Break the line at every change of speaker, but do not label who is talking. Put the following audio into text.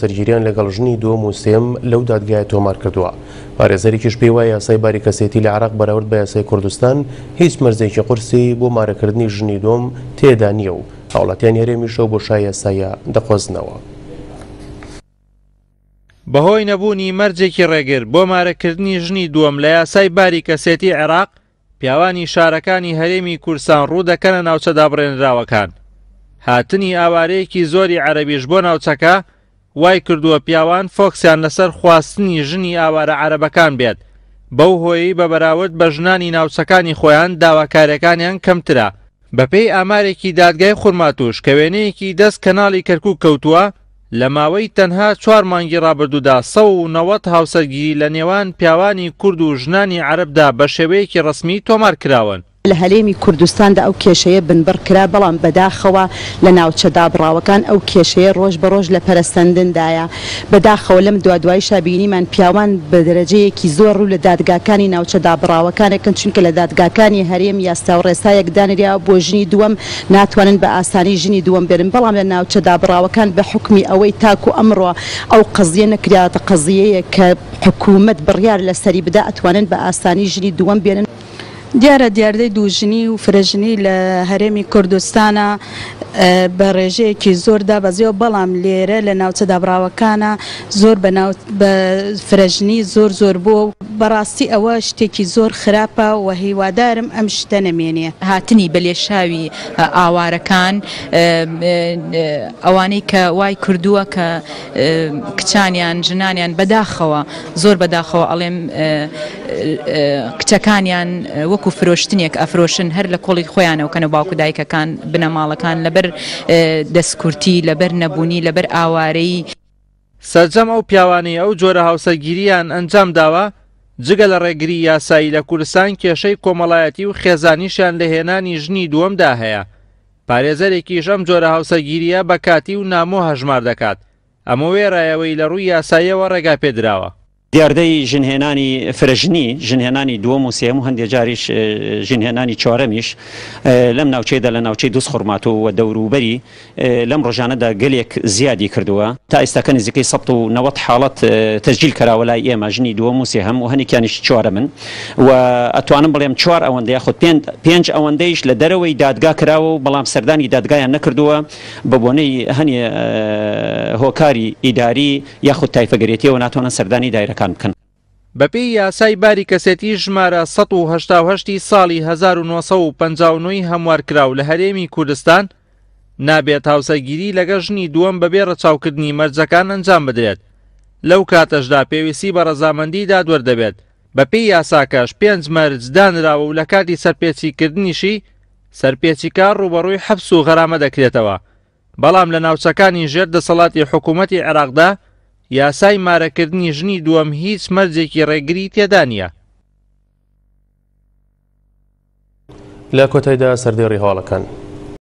هاوسەرگیریان لەگەڵ ژنی دووەم و سێیەم لەو دادگایە تۆمار کردووە. پارێزەرێکیش پێی وایە یاسای باری کەسێتی لە عێراق بەراورد بە یاسای کوردستان هیچ مەرجێکی قورسی بۆ مارەکردنی ژنی دووەم تێدا نییە و هاوڵاتیانی هەرێمیش ئەو بۆشای یاساییە دەقۆزنەوە.
بەهۆی نەبوونی مەرجێکی ڕێگر بۆ مارەکردنی ژنی دووەم لە یاسای باری کەسێتی عێراق، پیاوانی شارەکانی هەرێمی کوردستان ڕوو دەکەنە ناوچە دابڕێنراوەکان. هاتنی ئاوارەیەکی زۆری عەرەبیش بۆ ناوچەکە وای کردووە پیاوان فۆکسیان لەسەر خواستنی ژنی ئاوارە عەرەبەکان بێت، بەو هۆیەی بە بەراورد بە ژنانی ناوچەکانی خۆیان داواکاریەکانیان کەمترە. بەپێی ئامارێکی دادگای خورماتووش کە وێنەیەکی دەست کەناڵی کەرکوک کەوتووە، لە ماوەی تەنها چوار مانگی ڕابردوودا 190 هاوسەرگیری لە نێوان پیاوانی کورد و ژنانی عەرەبدا بە شێوەیەکی ڕەسمی تۆمار کراون.
لە هەرێمی کوردستاندا ئەو کێشەیە بنبڕ کرا، بەڵام بەداخەوە لە ناوچە دابڕاوەکان ئەو کێشەیە ڕۆژ بە ڕۆژ لە پەرەسەندندایە. بەداخەوە لەم دوادوایشا بینیمان پیاوان بە دەرەجەیەکی زۆر ڕوو لە دادگاکانی ناوچە دابڕاوەکان ئەکەن، چونکە لە دادگاکانی هەرێم یاسا و ڕێسایەک دانراوە بۆ ژنی دووەم ناتوانن بە ئاسانی ژنی دووەم بێنن، بەڵام لە ناوچە دابڕاوەکان بە حوکمی ئەوەی تاکو ئەمڕۆ ئەو قەزیە نەکراوەتە قەزیەیەک کە حکومەت بڕیار لەسەری بدا ئەتوانن بە ئاسانی ژنی دووەم بێنن.
دیارە دیاردەی دووژنی و فرەژنی لە هەرێمی کوردستانا بە ڕێژەیەکی زۆر دابەزیوە، بەڵام لێرە لە ناوچە دابڕاوەکانا زۆر بە ناو بە فرەژنی زۆر زۆر بووە و بەڕاستی ئەوە شتێکی زۆر خراپە و هیوادارم ئەم شتە نەمێنێ.
هاتنی بە لێشاوی ئاوارەکان ئەوانەی کە وای کردووە کە کچانیان ژنانیان بەداخەوە زۆر بەداخەوە ئەڵێم کچەکانیان وەکو فرۆشتنێک ئەفرۆشن هەر لە کۆڵی خۆیانەوە کەنە باوک و دایکەکان بنەماڵەکان لەبەر دەستکورتی لەبەر نەبوونی لەبەر ئاوارەیی.
سەرجەم ئەو پیاوانەی ئەو جۆرە هاوسەرگیرییان ئەنجام داوە، جگە لە ڕێگری یاسایی لە کوردستان کێشەی کۆمەڵایەتی و خێزانیشیان لە هێنانی ژنی دووەمدا هەیە. پارێزەرێکیش ئەم جۆرە هاوسەرگیرییە بە کاتی و نامۆ هەژمار دەکات، ئەمە وێڕای ئەوەی لە ڕووی یاساییەوە ڕێگا پێدراوە.
دیاردەی ژنهێنانی فرەژنی، ژنهێنانی دووەم و سێیەم و هەندێ جاریش ژنهێنانی چوارەمیش لەم ناوچەیەدا لە ناوچەی دوزخورماتوو و دەوروبەری لەم ڕۆژانەدا گەلێک زیادی کردووە. تا ئێستاکە نزیکەی 190 حاڵەت تەسجیل کراوە لای ئێمە، ژنی دووەم و سێهەم و هەنێکیانیش چوارەمن و ئەتوانم بڵێم چوار ئەوەندە یاخود پێنج ئەوەندەیش لە دەرەوەی دادگا کراوە و بەڵام سەردانی دادگایان نەکردووە بە بۆنەی هەنێ هۆکاری ئیداری یاخود تایفەگەرێتیەوە ناتوانن سەردانی دایرەکان بکەن.
بەپێی یاسای باری کەسێتی ژمارە 188 ی ساڵی 1959 ی هەموارکراو لە هەرێمی کوردستان، نابێت هاوسەرگیری لەگەڵ ژنی دووەم بەبێ ڕەچاوکردنی مەرجەکان ئەنجام بدرێت، لەو کاتەشدا پێویستی بە ڕەزامەندی دادوەر دەبێت، بەپێی یاساکەش پێنج مەرج دانراوە و لەکاتی سەرپێچیکردنیشی سەرپێچیکار ڕووبەڕووی حەبس و غەرامە دەکرێتەوە. بەڵام لە ناوچەکانی ژێر دەسەڵاتی حکوومەتی عێراقدا یاسای مارەکردنی ژنی دووەم هیچ مەرجێکی ڕێگری تێدا نییە.
لە کۆتایدا سەردێڕی هەواڵەکان.